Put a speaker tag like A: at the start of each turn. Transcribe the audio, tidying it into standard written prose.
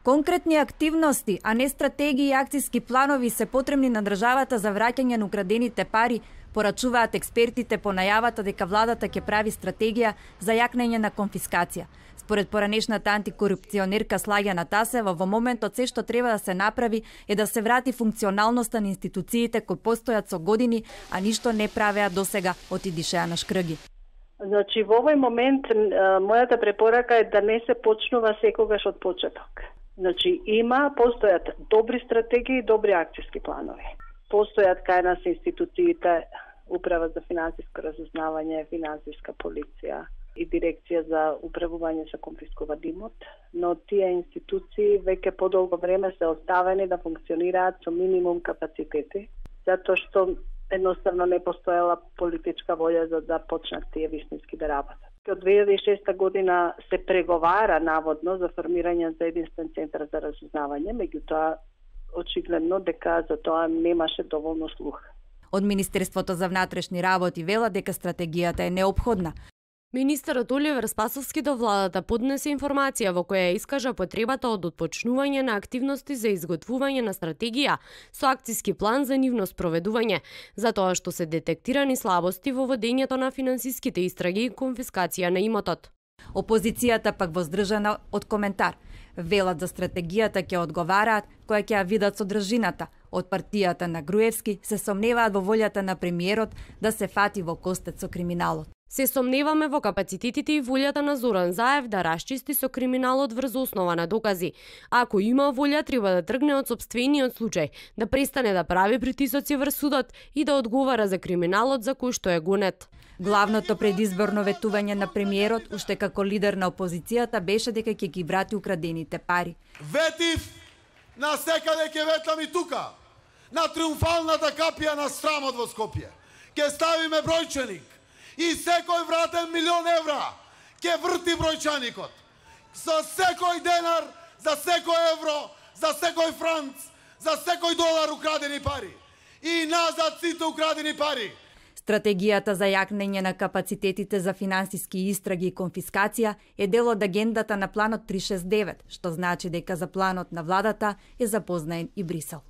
A: Конкретни активности, а не стратегии и акциски планови се потребни на државата за враќање на украдените пари, порачуваат експертите по најавата дека владата ќе прави стратегија за јакнење на конфискација. Според поранешната антикорупционерка Слаѓана Тасева, во моментот се што треба да се направи е да се врати функционалноста на институциите кои постојат со години, а ништо не правеа досега, отидише Ана Шкрги.
B: Значи, во овој момент мојата препорака е да не се почнува секогаш од почеток. Значи, постојат добри стратегии и добри акциски планови. Постојат кај нас институциите, Управа за финансиско разузнавање, финансиска полиција и дирекција за управување со конфискуван имот, но тие институции веќе подолго време се оставени да функционираат со минимум капацитети, затоа што едноставно не постоела политичка волја за да почнат тие вистински да работат. Од 2006 година се преговара наводно за формирање за единствен центар за разузнавање, меѓутоа очигледно дека за тоа немаше доволно слух.
A: Од Министерството за внатрешни работи вела дека стратегијата е неопходна.
C: Министерот Оливер Спасовски до владата поднесе информација во која искажа потребата од отпочнување на активности за изготвување на стратегија со акциски план за нивно спроведување, затоа што се детектирани слабости во водењето на финансиските истраги и конфискација на имотот.
A: Опозицијата пак воздржана од коментар. Велат за стратегијата ќе одговараат која ќе ја видат содржината. Од партијата на Груевски се сомневаат во волјата на премиерот да се фати во костец со криминалот.
C: Се сомневаме во капацитетите и волјата на Зоран Заев да расчисти со криминалот врз основа на докази. Ако има волја, треба да тргне од сопствениот случај, да престане да прави притисоци врз судот и да одговара за криминалот за кој што е гонет.
A: Главното предизборно ветување на премиерот, уште како лидер на опозицијата, беше дека ќе ги врати украдените пари.
D: Ветив на секаде ќе ветам и тука, на триумфалната капија на срамот во Скопје. Ќе ставиме бројчаник и секој вратен €1.000.000 ќе врти бројчаникот. За секој денар, за секој евро, за секој франц, за секој долар украдени пари. И назад сите украдени пари.
A: Стратегијата за јакнење на капацитетите за финансиски истраги и конфискација е дел од агендата на планот 369, што значи дека за планот на владата е запознаен и Брисел.